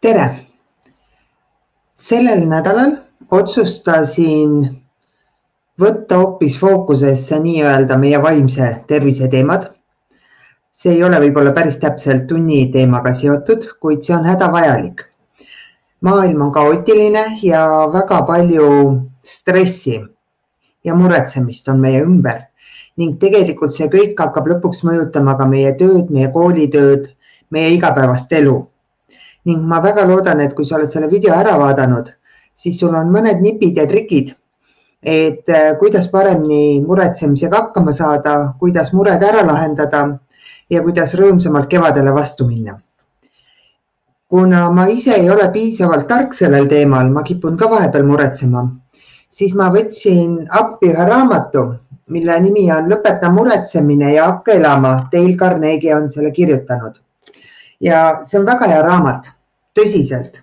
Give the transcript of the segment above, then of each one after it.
Tere! Sellel nädalal otsustasin võtta hoopis fookusesse nii-öelda meie vaimse tervise teemad. See ei ole võib-olla päris täpselt tunni teemaga seotud, kuid see on hädavajalik. Maailm on kaootiline ja väga palju stressi ja muretsemist on meie ümber ning tegelikult see kõik hakkab lõpuks mõjutama ka meie tööd, meie koolitööd, meie igapäevast elu. Ning ma väga loodan, et kui sa oled selle video ära vaadanud, siis sul on mõned nipid ja trikid, et kuidas paremini muretsemisega hakkama saada, kuidas mured ära lahendada ja kuidas rõõmsamalt kevadele vastu minna. Kuna ma ise ei ole piisavalt tark sellel teemal, ma kipun ka vahepeal muretsema, siis ma võtsin appi ühe raamatu, mille nimi on Lõpeta muretsemine ja hakka elama. Dale Carnegie on selle kirjutanud. Ja see on väga hea raamat, tõsiselt.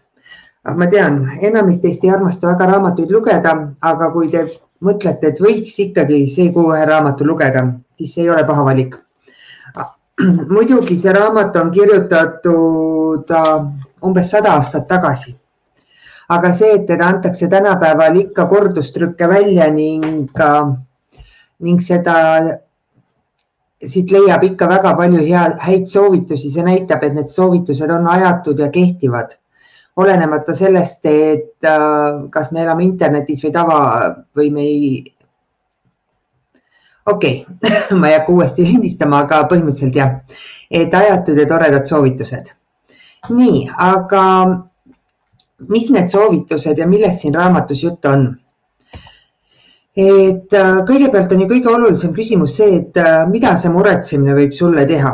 Ma tean, enamik teist ei armasta väga raamatuid lugeda, aga kui te mõtlete, et võiks ikkagi see kuu ühe raamatu lugeda, siis see ei ole paha valik. Muidugi see raamat on kirjutatud umbes 100 aastat tagasi. Aga see, et teda antakse tänapäeval ikka kordustrükke välja ning seda siit leiab ikka väga palju häid soovitusi. See näitab, et need soovitused on ajatud ja kehtivad. Olenemata sellest, et kas me elame internetis või me ei... Okei, ma ei hakka uuesti lindistama, aga põhimõtteliselt jah, et ajatud ja toredad soovitused. Nii, aga mis need soovitused ja millest siin raamatus jutt on? Et kõigepealt on ju kõige olulisem küsimus see, et mida see muretsemine võib sulle teha.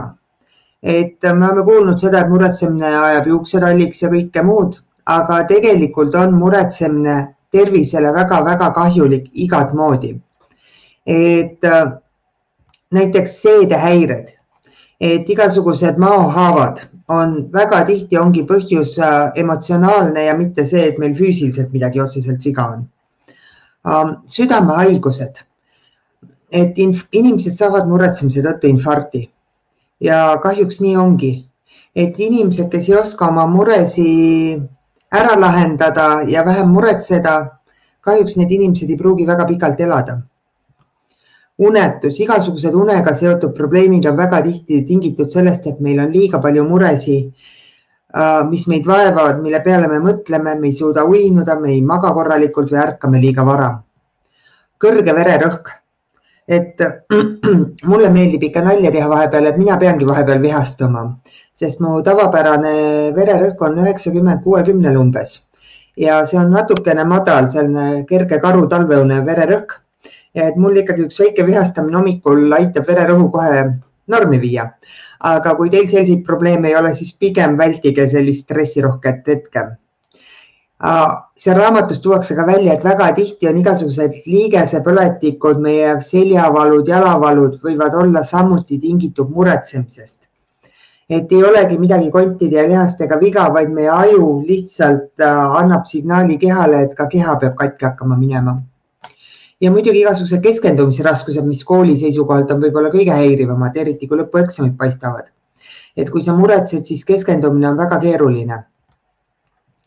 Et me oleme kuulnud seda, et muretsemine ajab juuksetalliks ja kõike muud, aga tegelikult on muretsemine tervisele väga-väga kahjulik igat moodi. Et näiteks seedehäired, et igasugused maohaavad on väga tihti ongi põhjus emotsionaalne ja mitte see, et meil füüsiliselt midagi otseselt viga on. Südamehaigused, et inimesed saavad muretsemise tõttu infarkti ja kahjuks nii ongi, et inimesed, kes ei oska oma muresi ära lahendada ja vähem muretseda, kahjuks need inimesed ei pruugi väga pikalt elada. Unetus, igasugused unega seotud probleemid on väga tihti tingitud sellest, et meil on liiga palju muresi, mis meid vaevavad, mille peale me mõtleme, me ei suuda uinuda, me ei maga korralikult või ärkame liiga vara. Kõrge vererõhk, et mulle meeldib ikka nalja teha vahepeal, et mina peangi vahepeal vihastuma, sest mu tavapärane vererõhk on 90-60 umbes ja see on natukene madal, selline kerge karu talveune vererõhk ja et mul ikkagi üks väike vihastamine hommikul aitab vererõhu kohe normi viia. Aga kui teil selliseid probleeme ei ole, siis pigem vältige sellist stressirohket hetke. See raamatus tuuakse ka välja, et väga tihti on igasugused liigesepõletikud, meie seljavalud, jalavalud võivad olla samuti tingitud muretsemisest. Et ei olegi midagi kontide ja lihastega viga, vaid meie aju lihtsalt annab signaali kehale, et ka keha peab katki hakkama minema. Ja muidugi igasugused keskendumisraskused, mis kooli seisukohalt on võib-olla kõige häirivamad, eriti kui lõpueksamid paistavad. Et kui sa muretsed, siis keskendumine on väga keeruline.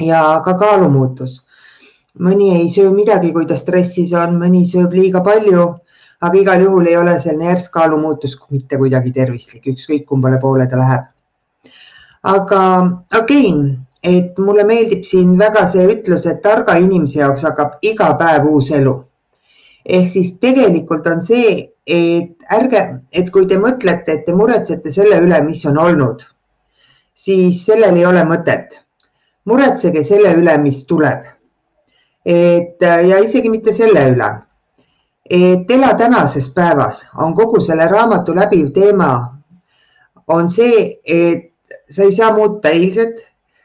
Ja ka kaalumuutus. Mõni ei söö midagi, kui ta stressis on, mõni sööb liiga palju, aga igal juhul ei ole selline järsk kaalumuutus mitte kuidagi tervislik, ükskõik kumbale poole ta läheb. Aga okei, et mulle meeldib siin väga see ütlus, et targa inimese jaoks hakkab iga päev uus elu. Ehk siis tegelikult on see, et kui te mõtlete, et te muretsete selle üle, mis on olnud, siis sellel ei ole mõtet. Muretsege selle üle, mis tuleb. Ja isegi mitte selle üle. Et ela tänases päevas on kogu selle raamatu läbiv teema on see, et sa ei saa muuta eilset,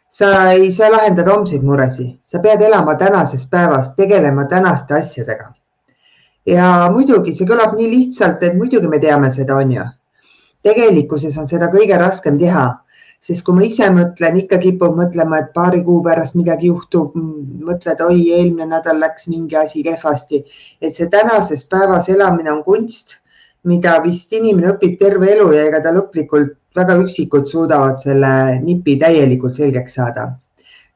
sa ei saa lahendada homseid muresi. Sa pead elama tänases päevas, tegelema tänaste asjadega. Ja muidugi see kõlab nii lihtsalt, et muidugi me teame seda, on ju. Tegelikkuses on seda kõige raskem teha, sest kui ma ise mõtlen, ikka kipub mõtlema, et paari kuu pärast midagi juhtub, mõtled, oi, eelmine nädal läks mingi asi kehvasti. Et see tänases päevas elamine on kunst, mida vist inimene õpib terve elu ja ega ta lõplikult väga üksikud suudavad selle nipi täielikult selgeks saada.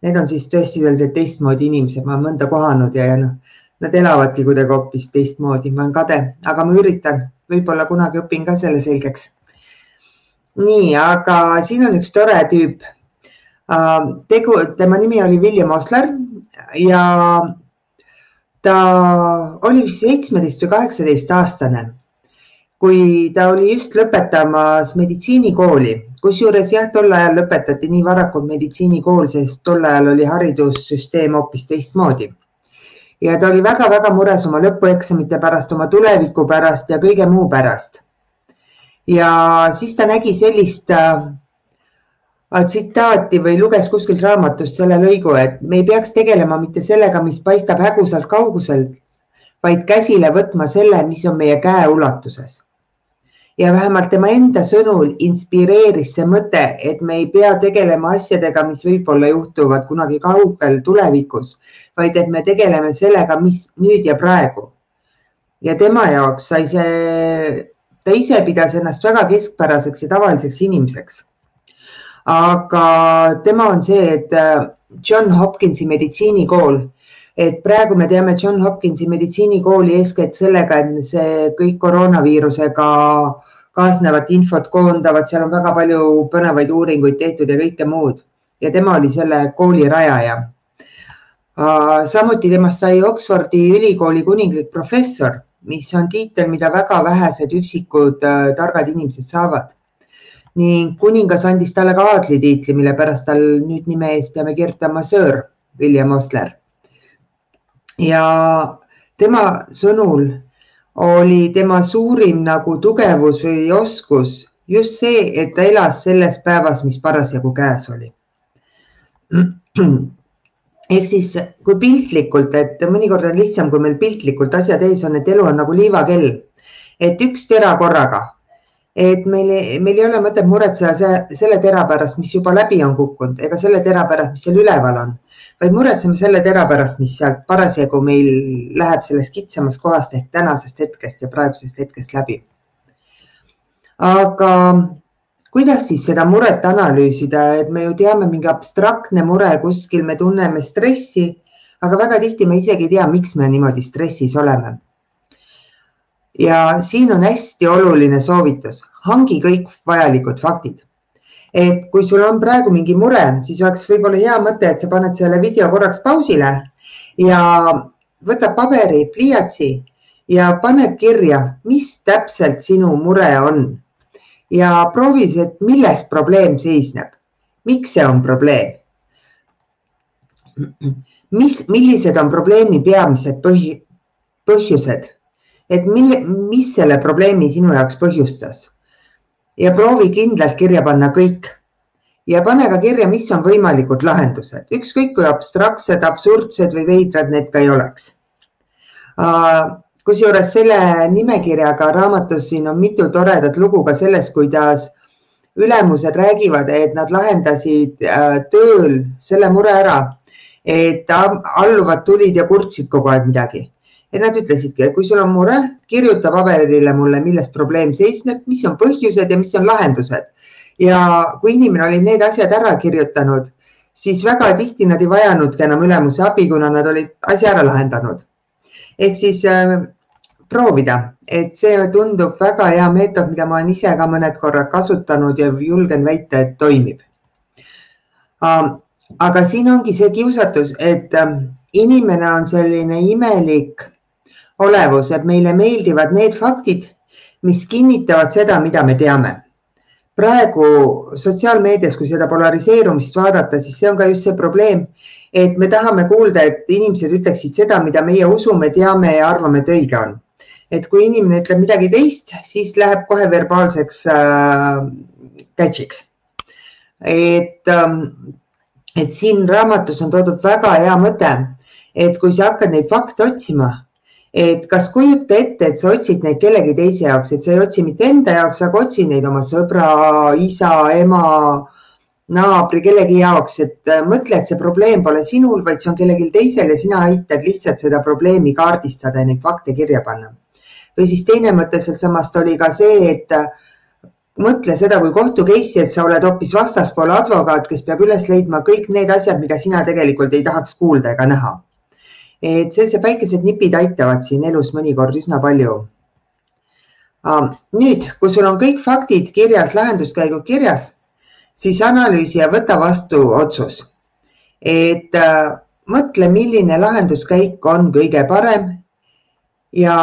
Need on siis tõesti sellised teistmoodi inimesed, ma olen mõnda kohanud ja nad elavadki kuidagi hoopis teistmoodi, ma olen kade, aga ma üritan, võib-olla kunagi õpin ka selle selgeks. Nii, aga siin on üks tore tüüp. Tema nimi oli William Osler ja ta oli 17 või 18 aastane, kui ta oli just lõpetamas meditsiinikooli. Kusjuures jah, tol ajal lõpetati nii varakult meditsiinikool, sest tol ajal oli haridussüsteem hoopis teistmoodi. Ja ta oli väga-väga mures oma lõpueksamite pärast, oma tuleviku pärast ja kõige muu pärast. Ja siis ta nägi sellist tsitaati või luges kuskilt raamatust selle lõigu, et me ei peaks tegelema mitte sellega, mis paistab hägusalt kauguselt, vaid käsile võtma selle, mis on meie käe ulatuses. Ja vähemalt tema enda sõnul inspireeris see mõte, et me ei pea tegelema asjadega, mis võib-olla juhtuvad kunagi kaugel tulevikus, vaid et me tegeleme sellega, mis nüüd ja praegu. Ja tema jaoks sai ta ise pidas ennast väga keskpäraseks ja tavaliseks inimeseks. Aga tema on see, et John Hopkinsi meditsiinikool, et praegu me teame John Hopkinsi meditsiinikooli eeskätt sellega, et see kõik koroonaviirusega kaasnevat infot koondavad, seal on väga palju põnevaid uuringuid tehtud ja kõike muud. Ja tema oli selle kooli rajaja. Samuti temast sai Oxfordi ülikooli kuninglik professor, mis on tiitel, mida väga vähesed üksikud targad inimesed saavad. Ning kuningas andis talle ka aadlitiitli, mille pärast tal nüüd nime ees peame kirjutama Sir William Osler. Ja tema sõnul oli tema suurim nagu tugevus või oskus just see, et ta elas selles päevas, mis parasjagu käes oli. Ehk siis kui piltlikult, et mõnikord on lihtsam, kui meil piltlikult asjad ees on, et elu on nagu liivakell, et üks tera korraga. Et meil ei ole mõtet muretseda selle tera pärast, mis juba läbi on kukkunud, ega selle tera pärast, mis seal üleval on, vaid muretseme selle tera pärast, mis sealt parasjagu meil läheb sellest kitsamast kohast ehk tänasest hetkest ja praegusest hetkest läbi. Aga kuidas siis seda muret analüüsida, et me ju teame mingi abstraktne mure kuskil, me tunneme stressi, aga väga tihti me isegi ei tea, miks me niimoodi stressis oleme. Ja siin on hästi oluline soovitus, hangi kõik vajalikud faktid. Et kui sul on praegu mingi mure, siis oleks võib-olla hea mõte, et sa paned selle video korraks pausile ja võta paberi, pliiatsi ja paned kirja, mis täpselt sinu mure on. Ja proovi, et milles probleem seisneb. Miks see on probleem? Millised on probleemi peamised põhjused? Et mis selle probleemi sinu jaoks põhjustas? Ja proovi kindlalt kirja panna kõik. Ja pane ka kirja, mis on võimalikud lahendused. Ükskõik kui abstraktsed, absurdsed või veidrad need ka ei oleks. Kusjuures selle nimekirjaga raamatus siin on mitu toredat lugu ka sellest, kuidas ülemused räägivad, et nad lahendasid tööl selle mure ära, et alluvad tulid ja kurtsid kogu aeg midagi. Et nad ütlesidki, et kui sul on mure, kirjuta paberile mulle, milles probleem seisneb, mis on põhjused ja mis on lahendused. Ja kui inimene oli need asjad ära kirjutanud, siis väga tihti nad ei vajanudki enam ülemuse abi, kuna nad olid asja ära lahendanud. Ehk siis proovida, et see tundub väga hea meetod, mida ma olen ise ka mõned korrad kasutanud ja julgen väita, et toimib. Aga siin ongi see kiusatus, et inimene on selline imelik olevus, et meile meeldivad need faktid, mis kinnitavad seda, mida me teame. Praegu sotsiaalmeedias, kui seda polariseerumist vaadata, siis see on ka just see probleem, et me tahame kuulda, et inimesed ütleksid seda, mida meie usume, teame ja arvame, et õige on. Et kui inimene ütleb midagi teist, siis läheb kohe verbaalseks catchiks. Et siin raamatus on toodud väga hea mõte, et kui sa hakkad neid fakte otsima, et kas kujuta ette, et sa otsid neid kellegi teise jaoks, et sa ei otsi mitte enda jaoks, aga otsi neid oma sõbra, isa, ema, naabri, kellegi jaoks, et mõtle, et see probleem pole sinul, vaid see on kellelgi teisel ja sina aitad lihtsalt seda probleemi kaardistada ja neid fakte kirja panna. Või siis teine mõte sealt samast oli ka see, et mõtle seda kui kohtu case'i, et sa oled hoopis vastaspoole advokaat, kes peab üles leidma kõik need asjad, mida sina tegelikult ei tahaks kuulda ega näha. Et sellised väikesed nipid aitavad siin elus mõnikord üsna palju. Nüüd, kui sul on kõik faktid kirjas, lahenduskäigud kirjas, siis analüüsi ja võta vastu otsus. Et mõtle, milline lahenduskäik on kõige parem ja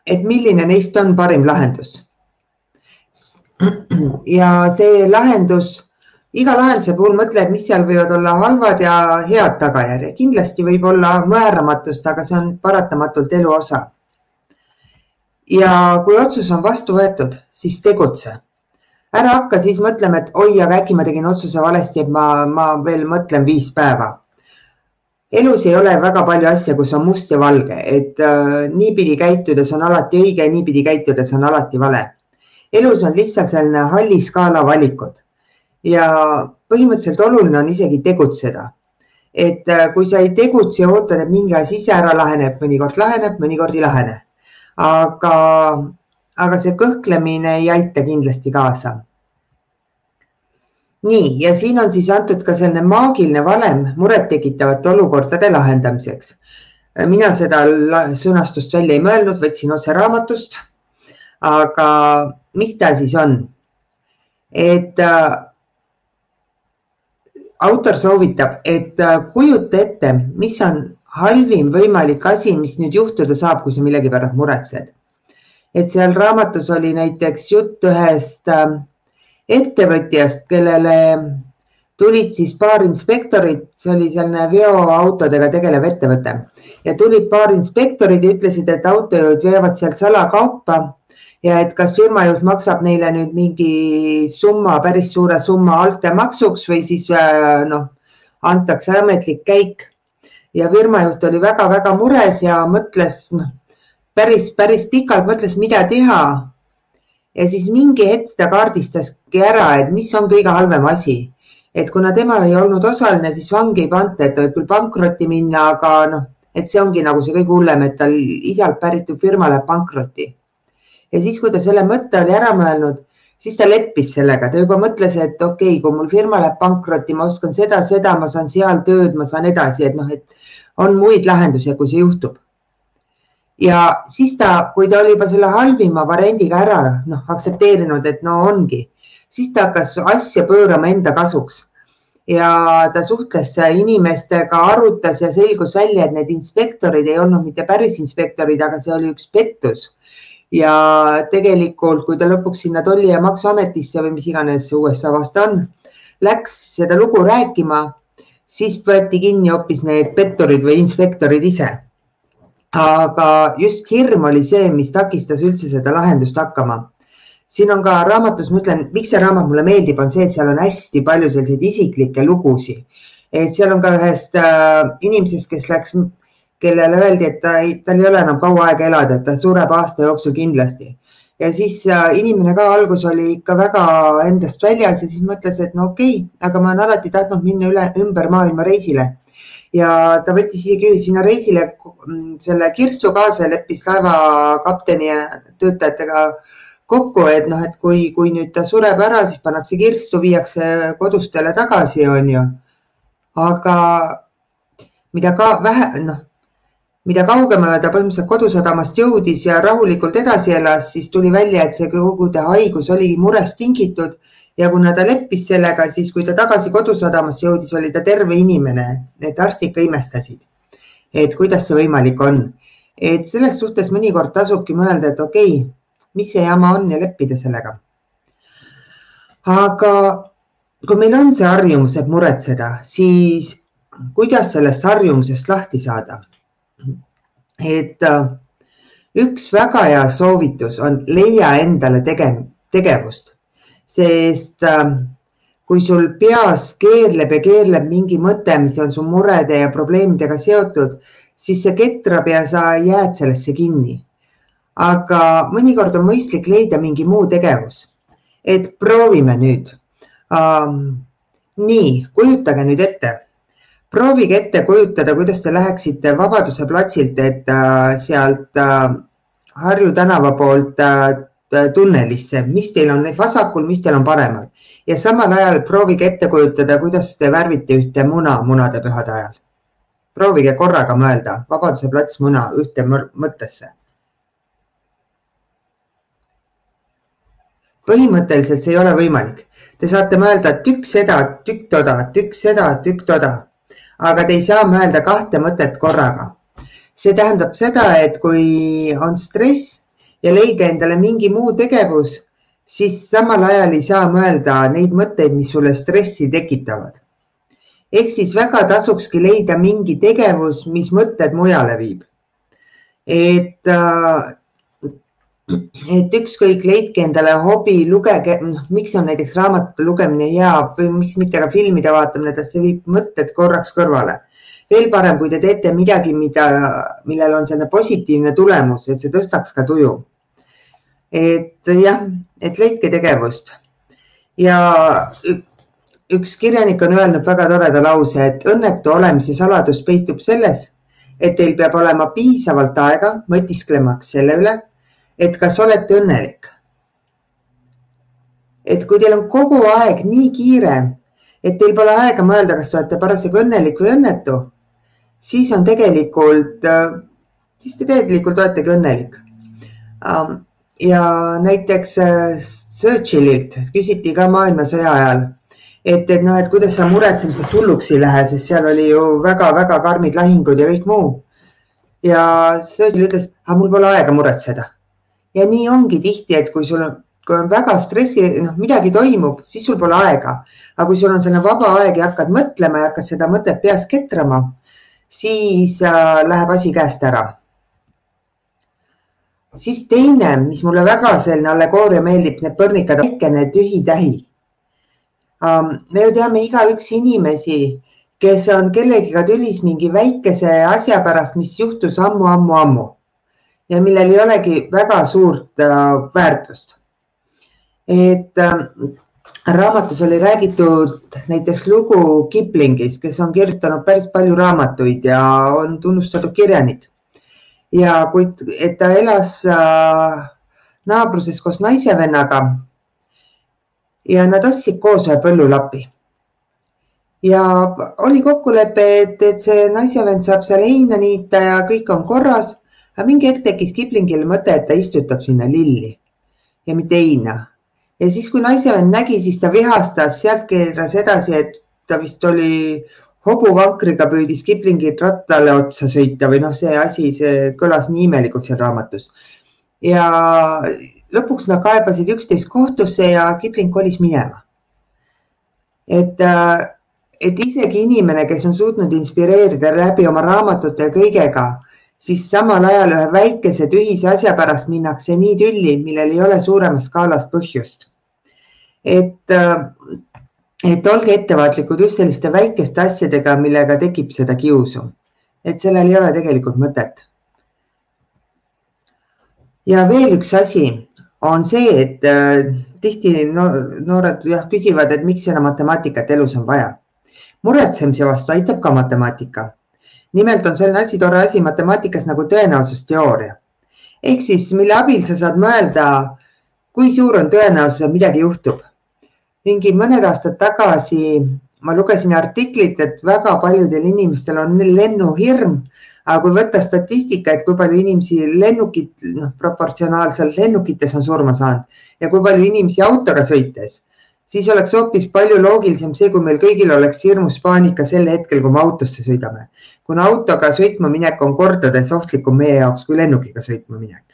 et milline neist on parim lahendus. Ja see lahendus, iga lahenduse puhul mõtle, et mis seal võivad olla halvad ja head tagajärjed. Kindlasti võib olla määramatust, aga see on paratamatult elu osa. Ja kui otsus on vastu võetud, siis tegutse. Ära hakka siis mõtlema, et oi, aga äkki ma tegin otsuse valesti, et ma veel mõtlen 5 päeva. Elus ei ole väga palju asja, kus on must ja valge, et niipidi käitudes on alati õige, niipidi käitudes on alati vale. Elus on lihtsalt selline halli skaala valikud ja põhimõtteliselt oluline on isegi tegutseda. Et kui sa ei tegutse ja ootad, et mingi asi ise ära laheneb, mõnikord ei lahene. Aga see kõhklemine ei aita kindlasti kaasa. Nii, ja siin on siis antud ka selline maagiline valem muret tekitavate olukordade lahendamiseks. Mina seda sõnastust välja ei mõelnud, võtsin otse raamatust, aga mis ta siis on? Et autor soovitab, et kujuta ette, mis on halvim võimalik asi, mis nüüd juhtuda saab, kui sa millegi pärast muretsed. Et seal raamatus oli näiteks jutt ühest ettevõtjast, kellele tulid siis paar inspektorit, see oli selline veoautodega tegelev ettevõte ja tulid paar inspektorid ja ütlesid, et autojuhid veevad sealt salakaupa ja et kas firmajuht maksab neile nüüd mingi summa, päris suure summa altkäemaksuks või siis antakse ametlik käik. Ja firmajuht oli väga-väga mures ja mõtles, päris pikalt mõtles, mida teha. Ja siis mingi hetk ta kaardistaski ära, et mis on kõige halvem asi. Et kuna tema ei olnud osaline, siis vangi ei panta, et ta võib küll pankrotti minna, aga et see ongi nagu see kõige hullem, et tal isalt päritud firma läheb pankrotti. Ja siis, kui ta selle mõtte oli ära mõelnud, siis ta leppis sellega. Ta juba mõtles, et okei, kui mul firma läheb pankrotti, ma oskan seda, ma saan seal tööd, ma saan edasi, et on muid lahendusi, kui see juhtub. Ja siis ta, kui ta oli juba selle halvima variandiga ära aktsepteerinud, et ongi, siis ta hakkas asja pöörama enda kasuks. Ja ta suhtles inimestega, arutas ja selgus välja, et need inspektorid ei olnud mitte päris inspektorid, aga see oli üks pettus. Ja tegelikult, kui ta lõpuks sinna tolli- ja maksuametisse või mis iganes USA vasta on, läks seda lugu rääkima, siis võeti kinni hoopis need petturid või inspektorid ise. Aga just hirm oli see, mis takistas üldse seda lahendust hakkama. Siin on ka raamatus, ma ütlen, miks see raamat mulle meeldib, on see, et seal on hästi palju selliseid isiklikke lugusi. Et seal on ka ühest inimesest, kes läks, kellele öeldi, et tal ei ole enam kaua aega elada, et ta sureb aasta jooksul kindlasti. Ja siis inimene ka algus oli ikka väga endast väljas ja siis mõtles, et okei, aga ma olen alati tahtnud minna ümber maailma reisile. Ja ta võttis isegi sinna reisile selle kirstu kaasa ja leppis laevakapteni ja töötajatega kokku, et kui nüüd ta sureb ära, siis pannakse kirstu, viiakse kodustele tagasi, on ju. Aga mida kaugemale ta põhimõtteliselt kodusadamast jõudis ja rahulikult edasi elas, siis tuli välja, et see kogu ta haigus oligi murest tingitud ja kuna ta leppis sellega, siis kui ta tagasi kodusadamast jõudis, oli ta terve inimene, et arstid ka imestasid, et kuidas see võimalik on. Et selles suhtes mõnikord tasubki mõelda, et okei, mis see jama on ja leppida sellega. Aga kui meil on see harjumus, et muretseda, siis kuidas sellest harjumusest lahti saada? Et üks väga hea soovitus on leia endale tegevust, sest kui sul peas keerleb mingi mõte, mis on su murede ja probleemidega seotud, siis see ketrab ja sa jääd sellesse kinni. Aga mõnikord on mõistlik leida mingi muu tegevus. Et proovime nüüd. Nii, kujutage nüüd ette. Proovige ette kujutada, kuidas te läheksite Vabaduse platsilt, et sealt Harju tänava poolt tunnelisse, mis teil on vasakul, mis teil on paremal. Ja samal ajal proovige ette kujutada, kuidas te värvite ühte munade pühade ajal. Proovige korraga mõelda, Vabaduse plats muna ühte mõttesse. Põhimõtteliselt see ei ole võimalik. Te saate mõelda tükk seda, tükk toda, tükk seda, tükk toda, aga te ei saa mõelda kahte mõtet korraga. See tähendab seda, et kui on stress ja leige endale mingi muu tegevus, siis samal ajal ei saa mõelda neid mõtteid, mis sulle stressi tekitavad. Ehk siis väga tasukski leida mingi tegevus, mis mõtted mujale viib. Et ükskõik leidke endale hobi, lugege, miks on näiteks raamatute lugemine hea või miks mitte ka filmide vaatamine, et see viib mõtted korraks kõrvale. Veel parem, kui te teete midagi, millel on selline positiivne tulemus, et see tõstaks ka tuju. Et jah, et leidke tegevust. Ja üks kirjanik on öelnud väga toreda lause, et õnnetu olemise saladus peitub selles, et teil peab olema piisavalt aega mõtisklemaks selle üle, et kas olete õnnelik. Et kui teil on kogu aeg nii kiire, et teil pole aega mõelda, kas te olete parasjagu õnnelik või õnnetu, siis te tegelikult oletegi õnnelik. Ja näiteks Churchillilt küsiti ka maailmasõja ajal, et kuidas sa muretsemisest hulluks ei lähe, sest seal oli ju väga-väga karmid lahingud ja kõik muu. Ja Churchill ütles, et mul pole aega muretseda. Ja nii ongi tihti, et kui on väga stressi, midagi toimub, siis sul pole aega. Aga kui sul on selline vaba aeg ja hakkad mõtlema ja hakkad seda mõtet peas ketrama, siis läheb asi käest ära. Siis teine, mis mulle väga selline allegooria meeldib, need põrnikad, väikene tühi tähi. Me ju teame igaüks inimesi, kes on kellegiga tülis mingi väikese asja pärast, mis juhtus ammu ja millel ei olegi väga suurt väärtust. Et raamatus oli räägitud näiteks lugu Kiplingis, kes on kirjutanud päris palju raamatuid ja on tunnustatud kirjanik. Ja et ta elas naabruses koos naisevennaga ja nad ostsid koos ühe põllulapi. Ja oli kokkulepe, et see naisevend saab seal heina niita ja kõik on korras, aga mingi hetk tekkis Kiplingile mõte, et ta istutab sinna lilli ja mitte heina. Ja siis, kui naisevend nägi, siis ta vihastas, sealt keeras edasi, et ta vist oli hobuvankriga püüdis Kiplingit rattale otsa sõita või see asi, see kõlas nii imelikult seal raamatus. Ja lõpuks nad kaebasid üksteist kohtusse ja Kipling kolis minema. Et isegi inimene, kes on suutnud inspireerida läbi oma raamatute ja kõigega, siis samal ajal ühe väikese tühise asja pärast minnakse nii tülli, millel ei ole suuremas skaalas põhjust. Et olge ettevaatlikud just selliste väikeste asjadega, millega tekib seda kiusu. Et sellel ei ole tegelikult mõtet. Ja veel üks asi on see, et tihti noored küsivad, et miks seda matemaatikat elus on vaja. Muretsemise vastu aitab ka matemaatika. Nimelt on selline asi, tore asi matemaatikas nagu tõenäosusteooria. Ehk siis, mille abil sa saad mõelda, kui suur on tõenäosus, et midagi juhtub. Mingi mõned aastad tagasi ma lugesin artiklit, et väga paljudel inimestel on lennuhirm, aga kui võtta statistika, et kui palju inimesi proportsionaalselt lennukites on surma saanud ja kui palju inimesi autoga sõites, siis oleks hoopis palju loogilisem see, kui meil kõigil oleks hirmus paanika sel hetkel, kui me autosse sõidame. Kuna autoga sõitma minek on kordades ohtlikum meie jaoks kui lennukiga sõitma minek.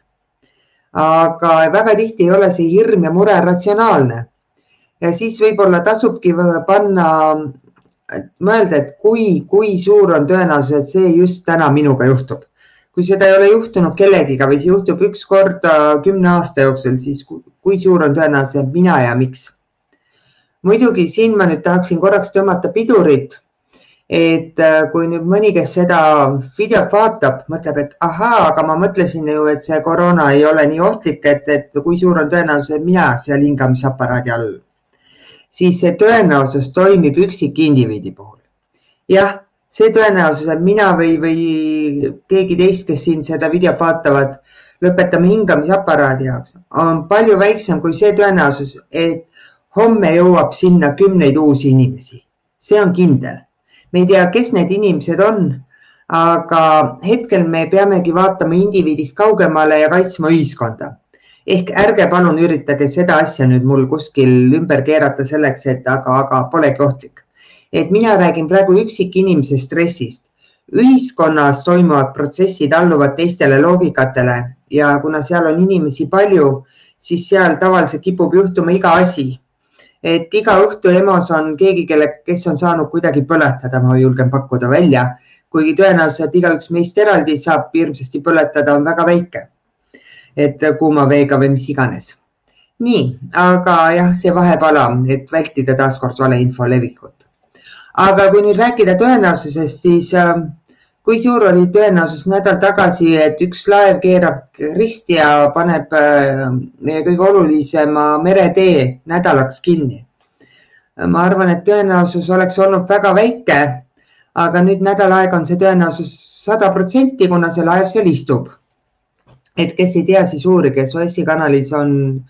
Aga väga tihti ei ole see hirm ja mure ratsionaalne. Ja siis võib-olla tasubki panna, mõelda, et kui suur on tõenäosus, et see just täna minuga juhtub. Kui seda ei ole juhtunud kellegiga või see juhtub üks kord 10 aasta jooksul, siis kui suur on tõenäosus, et mina ja miks. Muidugi siin ma nüüd tahaksin korraks tõmmata pidurit, et kui nüüd mõni, kes seda videot vaatab, mõtleb, et ahaa, aga ma mõtlesin ju, et see koroona ei ole nii ohtlik, et kui suur on tõenäosus, et mina seal hingamisaparaadi all. Siis see tõenäosus toimib üksik indiviidi puhul. Jah, see tõenäosus, et mina või keegi teist, kes siin seda videot vaatavad, lõpetame hingamisaparaadi jaoks, on palju väiksem kui see tõenäosus, et homme jõuab sinna 10 uusi inimesi. See on kindel. Me ei tea, kes need inimesed on, aga hetkel me peamegi vaatama indiviidist kaugemale ja kaitsma ühiskonda. Ehk ärge palun üritage seda asja nüüd mul kuskil ümber keerata selleks, et aga polegi ohtlik. Et mina räägin praegu üksik inimese stressist. Ühiskonnas toimuvad protsessid alluvad teistele loogikatele ja kuna seal on inimesi palju, siis seal tavaliselt kipub juhtuma iga asi. Et iga õhtu EMO-s on keegi, kes on saanud kuidagi põletada, ma julgen pakkuda välja, kuigi tõenäoliselt igaüks meist eraldi saab hirmsasti põletada, on väga väike. Et kuuma veega või mis iganes. Nii, aga jah, see vahepala, et vältida taaskord valeinfo levikut. Aga kui nüüd rääkida tõenäosusest, siis kui suur oli tõenäosus nädal tagasi, et üks laev keerab risti ja paneb meie kõige olulisema meretee nädalaks kinni. Ma arvan, et tõenäosus oleks olnud väga väike, aga nüüd nädal aega on see tõenäosus 100%, kuna see laev seal istub. Et kes ei tea, siis uurige, Suessi kanalis on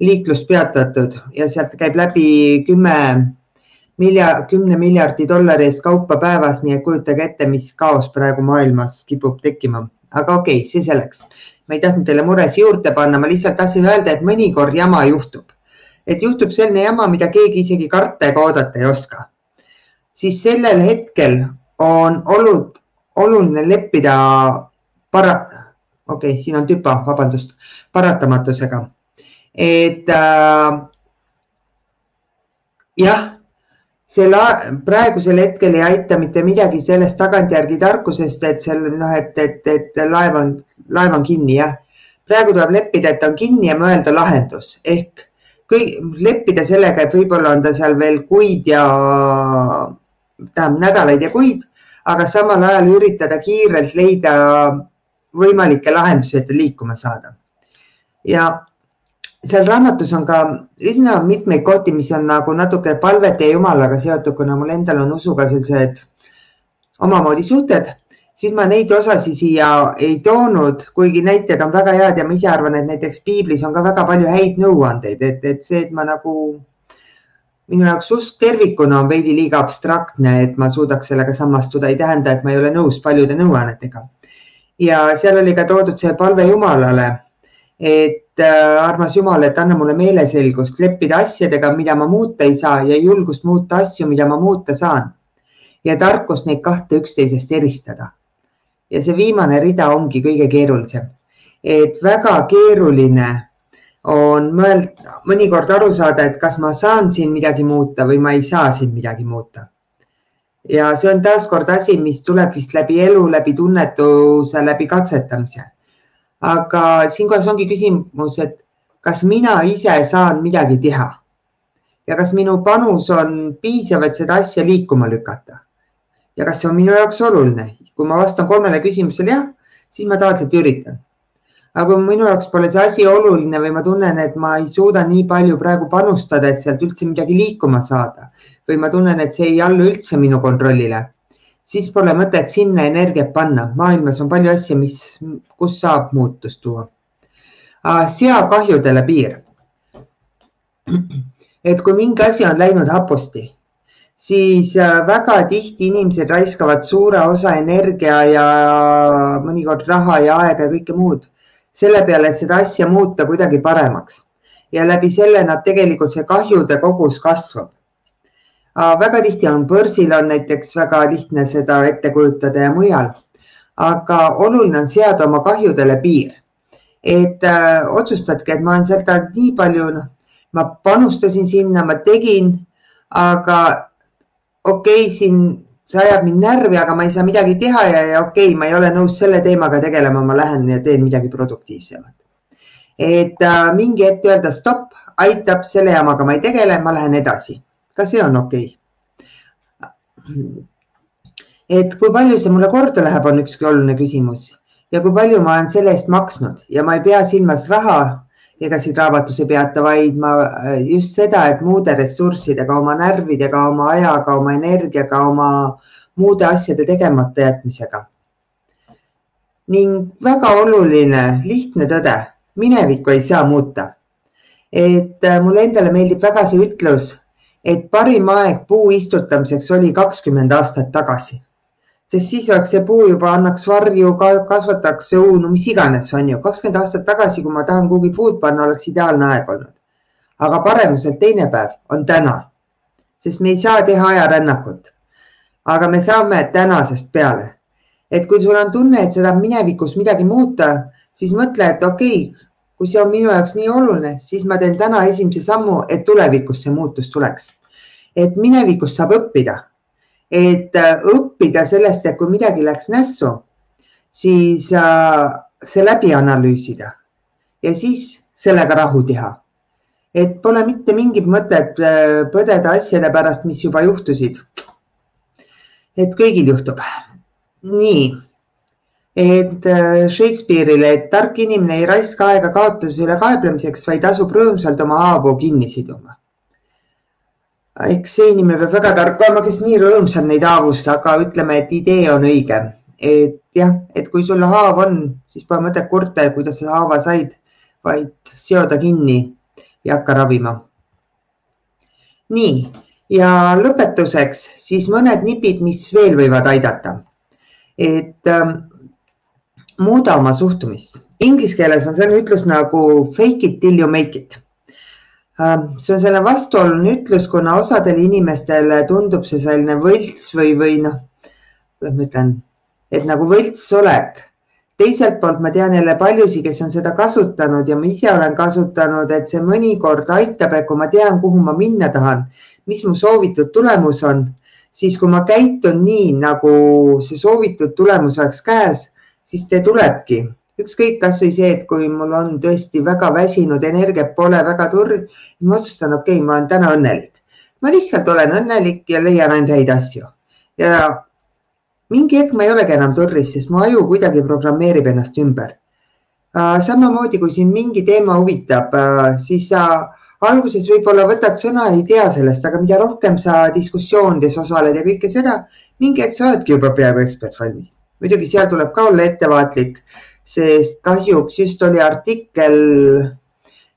liiklus peatatud ja sealt käib läbi 10 miljardi dollari eest kaupa päevas, nii et kujutage ette, mis kaos praegu maailmas kipub tekkima. Aga okei, see selleks. Ma ei tahtnud teile mures juurde panna, ma lihtsalt tahtsin öelda, et mõnikord jama juhtub. Et juhtub selline jama, mida keegi isegi karta ega oodata ei oska. Siis sellel hetkel on oluline leppida siin on tüpa, vabandust, paratamatusega. Et jah, praegusel hetkel ei aita mitte midagi sellest tagantjärgi tarkusest, et laev on kinni. Jah. Praegu tuleb leppida, et on kinni ja mõelda lahendus. Ehk leppida sellega, et võib-olla on ta seal veel kuid ja nädalaid ja kuid, aga samal ajal üritada kiirelt leida võimalikke lahendusi, et liikuma saada. Ja seal raamatus on ka üsna mitmeid kohti, mis on nagu natuke palvete ja Jumalaga seotud, kuna mul endal on usuga sellised omamoodi suhted, siis ma neid osasi siia ei toonud, kuigi näited on väga head ja ma ise arvan, et näiteks Piiblis on ka väga palju häid nõuandeid, et see, et ma nagu minu jaoks usk tervikuna on veidi liiga abstraktne, et ma suudaks sellega samastuda, ei tähenda, et ma ei ole nõus paljude nõuannetega. Ja seal oli ka toodud see palve Jumalale, et armas Jumal, et anna mulle meeleselgust leppida asjadega, mida ma muuta ei saa ja julgust muuta asju, mida ma muuta saan. Ja tarkus neid kahte üksteisest eristada. Ja see viimane rida ongi kõige keerulisem. Et väga keeruline on mõnikord aru saada, et kas ma saan siin midagi muuta või ma ei saa siin midagi muuta. Ja see on taaskord asi, mis tuleb vist läbi elu, läbi tunnetuse, läbi katsetamise. Aga siinkohas ongi küsimus, et kas mina ise saan midagi teha ja kas minu panus on piisav, et seda asja liikuma lükata ja kas see on minu jaoks oluline. Kui ma vastan 3 küsimusele jah, siis ma taotselt üritan. Aga kui minu jaoks pole see asi oluline või ma tunnen, et ma ei suuda nii palju praegu panustada, et sealt üldse midagi liikuma saada või ma tunnen, et see ei allu üldse minu kontrollile, siis pole mõtet sinna energiat panna. Maailmas on palju asja, kus saab muutust tuua. Sea kahjudele piir. Et kui mingi asi on läinud hapusti, siis väga tihti inimesed raiskavad suure osa energia ja mõnikord raha ja aega ja kõike muud selle peale, et seda asja muuta kuidagi paremaks. Ja läbi selle nad tegelikult see kahjude kogus kasvab. Väga tihti on börsil on näiteks väga lihtne seda ette kujutada ja mujal, aga oluline on seada oma kahjudele piir. Et otsustadki, et ma olen sealt nii palju, ma panustasin sinna, ma tegin, aga okei, siin see ajab mind närvi, aga ma ei saa midagi teha ja okei, ma ei ole nõus selle teemaga tegelema, ma lähen ja teen midagi produktiivsemat. Et mingi hetk öelda stopp, aitab, selle jamaga ma ei tegele, ma lähen edasi. Ka see on okei. Et kui palju see mulle korda läheb, on ükski oluline küsimus. Ja kui palju ma olen selle eest maksnud ja ma ei pea silmas raha, ega siit raamatus ei peata, vaid ma just seda, et muude ressurssidega, oma närvidega, oma ajaga, oma energiaga, oma muude asjade tegemata jätmisega. ning väga oluline, lihtne tõde, minevikku ei saa muuta. Et mulle endale meeldib väga see ütlus, et parim aeg puu istutamiseks oli 20 aastat tagasi. Sest siis oleks see puu juba annaks varju, kasvataks õunu, mis iganes on ju. 20 aastat tagasi, kui ma tahan kuhugi puud panna, oleks ideaalne aeg olnud. Aga paremuselt teine päev on täna, sest me ei saa teha ajarännakut. Aga me saame tänasest peale. Et kui sul on tunne, et seda minevikus midagi muuta, siis mõtle, et okei, kui see on minu jaoks nii oluline, siis ma teen täna esimese sammu, et tulevikus see muutus tuleks. Et minevikus saab õppida. Et õppida sellest, et kui midagi läks nässu, siis see läbi analüüsida ja siis sellega rahu teha. Et pole mitte mingit mõtet põdeda asjade pärast, mis juba juhtusid. Et kõigil juhtub. Nii, et Shakespeare'ile, et tark inimene ei raiska aega kaotuse üle kaeblemiseks, vaid asub rõõmsalt oma haavu kinni siduma. Eks see inimene peab väga tark olema, kes nii rõõmsalt neid haavuski, aga ütleme, et idee on õige. Et jah, et kui sul haav on, siis pole mõtet kurta, kuidas sa haava said, vaid seoda kinni ja hakka ravima. Nii, ja lõpetuseks siis mõned nipid, mis veel võivad aidata. Et muuda oma suhtumist. Inglise keeles on selline ütlus nagu fake it till you make it. See on selline vastuoluline ütlus, kuna osadele inimestele tundub see selline võlts või noh, ma ütlen, et nagu võlts olek. Teiselt poolt ma tean jälle paljusi, kes on seda kasutanud ja ma ise olen kasutanud, et see mõnikord aitab, et kui ma tean, kuhu ma minna tahan, mis mu soovitud tulemus on, siis kui ma käitun nii, nagu see soovitud tulemus oleks käes, siis see tulebki. Ükskõik kas või see, et kui mul on tõesti väga väsinud, energiat pole väga turg, ma otsustan, okei, ma olen täna õnnelik. Ma lihtsalt olen õnnelik ja leian ainult häid asju. Ja mingi hetk ma ei olegi enam turris, sest mu aju kuidagi programmeerib ennast ümber. Samamoodi, kui siin mingi teema huvitab, siis sa alguses võib-olla võtad sõna, ei tea sellest, aga mida rohkem sa diskussioonides osaled ja kõike seda, mingi hetk sa oledki juba peaaegu ekspert valmis. Muidugi seal tuleb ka olla ettevaatlik, sest kahjuks just oli artikkel,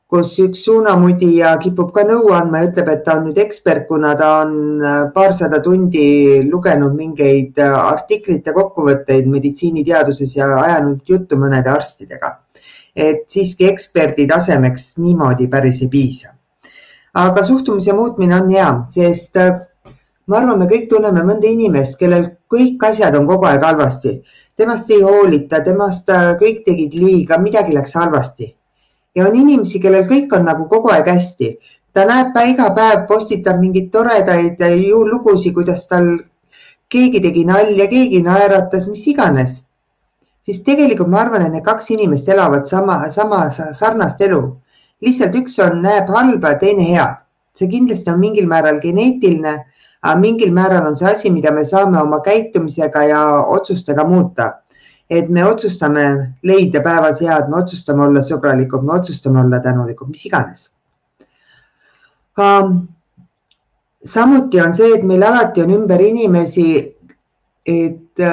kus üks suunamudija kipub ka nõu andma ja ütleb, et ta on nüüd ekspert, kuna ta on paarsada tundi lugenud mingeid artiklite kokkuvõtteid meditsiiniteaduses ja ajanud juttu mõnede arstidega. Et siiski eksperdi tasemeks niimoodi päris ei piisa. Aga suhtumise muutmine on hea, sest ma arvan, me kõik tunneme mõnda inimest, kellel kõik asjad on kogu aeg halvasti. Temast ei hoolita, temast kõik tegid liiga, midagi läks halvasti. Ja on inimesi, kellel kõik on nagu kogu aeg hästi. Ta näeb iga päev, postitab mingid toredaid lugusid, kuidas tal keegi tegi nalja, keegi naeratas, mis iganes. Siis tegelikult ma arvan, et need kaks inimest elavad sama sarnast elu. Lihtsalt üks näeb halba, teine hea. See kindlasti on mingil määral geneetiline, aga mingil määral on see asi, mida me saame oma käitumisega ja otsustega muuta. Et me otsustame leida päevas head, me otsustame olla sõbralikud, me otsustame olla tänulikud, mis iganes. Samuti on see, et meil alati on ümber inimesi, et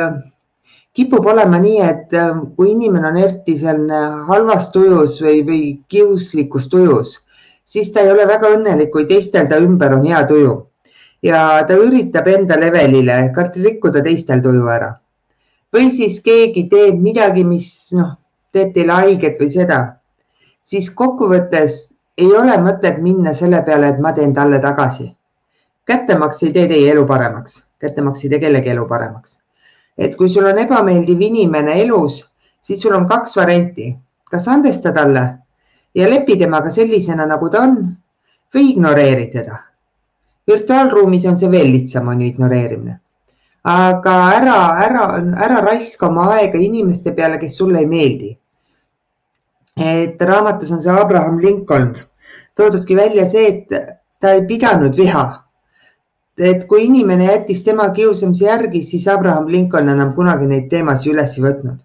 kipub olema nii, et kui inimene on eriti selline halvas tujus või kiuslikus tujus, siis ta ei ole väga õnnelik, kui teistel ta ümber on hea tuju. Ja ta üritab enda levelile rikkuda teistel tuju ära. Või siis keegi teeb midagi, mis teeb teile haiget või seda. Siis kokkuvõttes ei ole mõtet minna selle peale, et ma teen talle tagasi. Kättemaks ei tee teie elu paremaks. Kättemaks ei tee kellegi elu paremaks. Et kui sul on ebameeldiv inimene elus, siis sul on kaks varianti. Kas andesta talle ja lepi temaga sellisena, nagu ta on, või ignoreeri teda. Virtuaalruumis on see veel lihtsam, on ju ignoreerimine. Aga ära raiska oma aega inimeste peale, kes sulle ei meeldi. Et raamatus on see Abraham Lincoln toodudki välja see, et ta ei pidanud viha. Et kui inimene jättis tema kiusamise järgi, siis Abraham Lincoln enam kunagi neid teemasid üles võtnud.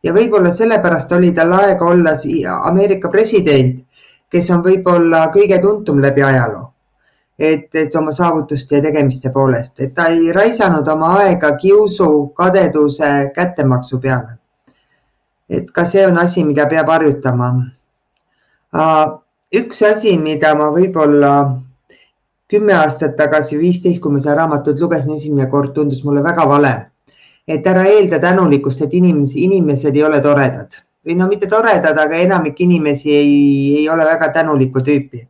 Ja võib-olla sellepärast oli tal aega olla Ameerika president, kes on võib-olla kõige tuntum läbi ajaloo. Et oma saavutuste ja tegemiste poolest, et ta ei raisanud oma aega kiusu, kadeduse, kättemaksu peale. et ka see on asi, mida peab harjutama. Üks asi, mida ma võib-olla 10 aastat tagasi, 15, kui ma seda raamatut lugesin esimene kord, tundus mulle väga vale. Et ära eelda tänulikkust, et inimesed ei ole toredad. Või no mitte toredad, aga enamik inimesi ei ole väga tänulikku tüüpi.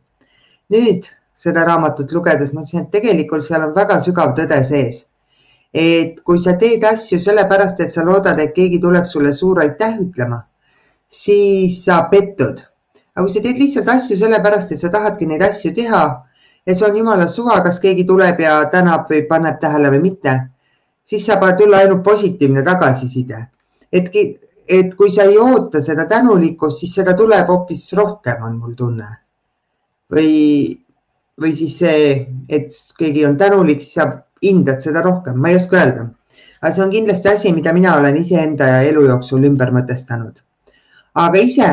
Nüüd seda raamatut lugedes mõtlesin, et tegelikult seal on väga sügav tõde sees. Et kui sa teed asju sellepärast, et sa loodad, et keegi tuleb sulle suur aitäh ütlema, siis sa pettud. Aga kui sa teed lihtsalt asju sellepärast, et sa tahadki neid asju teha ja see on jumala suva, kas keegi tuleb ja tänab või paneb tähele või mitte, siis saab tulla ainult positiivne tagasiside. Et kui sa ei oota seda tänulikkust, siis seda tuleb hoopis rohkem, on mul tunne. Või siis see, et keegi on tänulik, siis sa hindad seda rohkem. Ma ei oska öelda. Aga see on kindlasti asi, mida mina olen iseenda ja elu jooksul ümber mõtestanud. Aga ise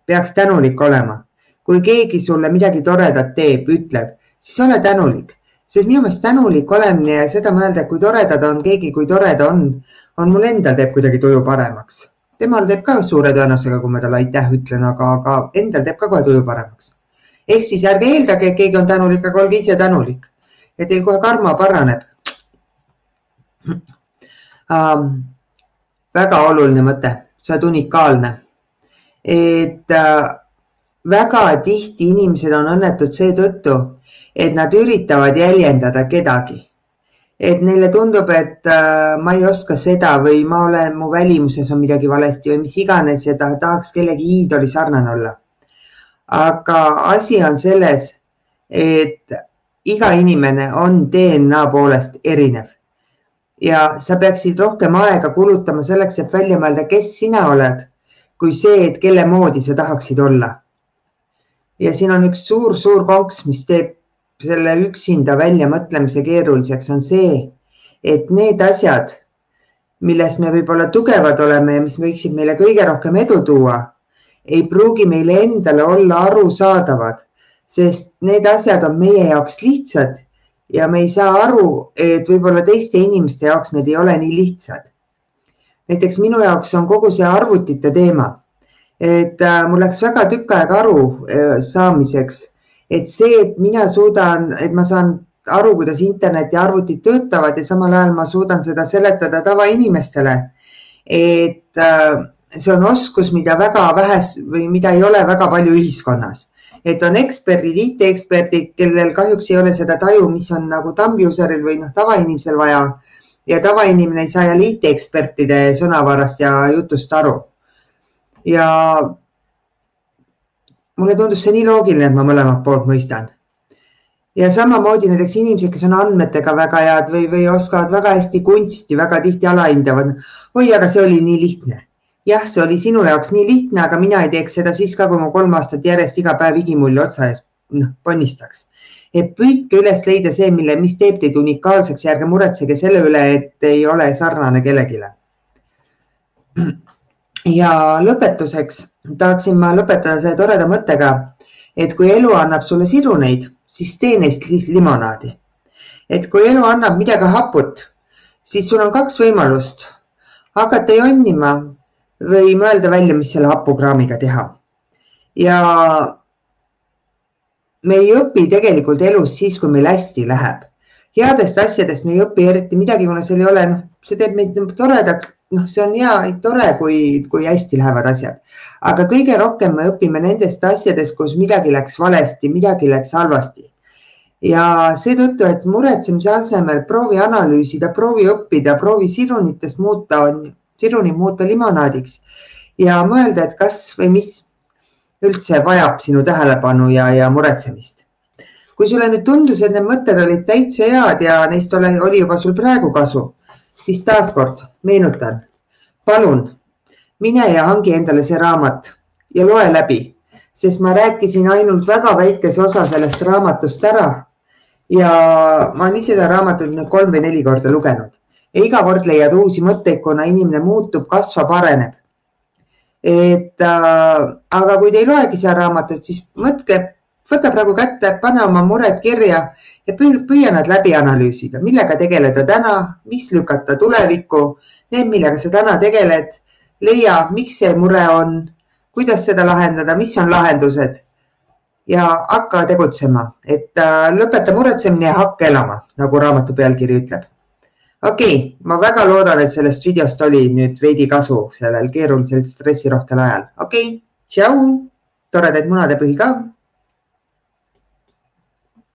peaks tänulik olema. Kui keegi sulle midagi toredat teeb, ütleb, siis ole tänulik. Sest minu meelest tänulik olemine ja seda mõelda, kui toredad on keegi, kui toreda on mul endal teeb kuidagi tuju paremaks. Temal teeb ka suure tõenäosusega, kui ma talle aitäh ütlen, aga endal teeb ka kohe tuju paremaks. Ehk siis ärge eeldage, et keegi on tänulik, aga olge ise tänulik. Ja teil kohe karma paraneb. Väga oluline mõte, see on unikaalne. Et väga tihti inimesed on õnnetud seetõttu, et nad üritavad jäljendada kedagi. Et neile tundub, et ma ei oska seda või mu välimuses on midagi valesti või mis iganes ja tahaks kellegi iidoli sarnane olla. Aga asi on selles, et iga inimene on DNA poolest erinev. Ja sa peaksid rohkem aega kulutama selleks, et välja mõelda, kes sina oled, kui see, et kelle moodi sa tahaksid olla. Ja siin on üks suur konks, mis teeb selle üksinda välja mõtlemise keeruliseks, on see, et need asjad, milles me võib-olla tugevad oleme ja mis võiksid meile kõige rohkem edu tuua, ei pruugi meile endale olla arusaadavad, sest need asjad on meie jaoks lihtsad ja me ei saa aru, et võib-olla teiste inimeste jaoks need ei ole nii lihtsad. Näiteks minu jaoks on kogu see arvutite teema, et mul läks väga tükk aega aru saamiseks, et see, et ma saan aru, kuidas internet ja arvutid töötavad ja samal ajal ma suudan seda seletada tavainimestele, et see on oskus, mida väga vähes või mida ei ole väga palju ühiskonnas. Et on eksperdid, IT-eksperdid, kellel kahjuks ei ole seda taju, mis on nagu thumb-useril või tavainimesel vaja ja tavainimene ei saa jälle IT-ekspertide sõnavarast ja jutust aru. Ja mulle tundus see nii loogiline, et ma mõlemat poolt mõistan. Ja samamoodi näiteks inimesed, kes on andmetega väga head või oskavad väga hästi kunsti, väga tihti alahindavad. Oi, aga see oli nii lihtne. Jah, see oli sinu jaoks nii lihtne, aga mina ei teeks seda siis ka, kui ma 3 aastat järjest iga päev igimulli otsa ees ponnistaks. Et püüdke üles leida see, mis teeb teid unikaalseks ja ärge muretsege selle üle, et ei ole sarnane kellegile. Ja lõpetuseks tahaksin ma lõpetada selle toreda mõttega, et kui elu annab sulle siruneid, siis tee neist limonaadi. Et kui elu annab midagi haput, siis sul on 2 võimalust. Hakata jonnima või mõelda välja, mis selle hapukraamiga teha. Ja me ei õpi tegelikult elus siis, kui meil hästi läheb. Headest asjadest me ei õpi eriti midagi, kuna seal ei ole, see teeb meid toredaks. See on hea, tore, kui hästi lähevad asjad. Aga kõige rohkem me õpime nendest asjadest, kus midagi läks valesti, midagi läks halvasti. Ja seetõttu, et muretsemise asemel proovi analüüsida, proovi õppida, proovi siruni muuta limonaadiks ja mõelda, et kas või mis üldse vajab sinu tähelepanu ja muretsemist. Kui sulle nüüd tundus, et need mõtted olid täitsa head ja neist oli juba sul praegu kasu, siis taaskord meenutan, palun, mine ja hangi endale see raamat ja loe läbi, sest ma rääkisin ainult väga väikese osa sellest raamatust ära ja ma olen ise seda raamatut 3 või 4 korda lugenud. Ja iga kord leiad uusi mõtteid, kuna inimene muutub, kasvab, areneb. Aga kui te ei loegi seda raamatut, siis mõtke, võta praegu kätte, pane oma mured kirja ja püüa nad läbi analüüsida, millega tegeleda täna, mis lükata tulevikku, need, millega sa täna tegeled, leia, miks see mure on, kuidas seda lahendada, mis on lahendused ja hakka tegutsema, et lõpeta muretsemine ja hakka elama, nagu raamatu pealkiri ütleb. Okei, ma väga loodan, et sellest videost oli nüüd veidi kasu sellel keerulisel stressirohkel ajal. Okei, tšau, toredaid munadepühi ka!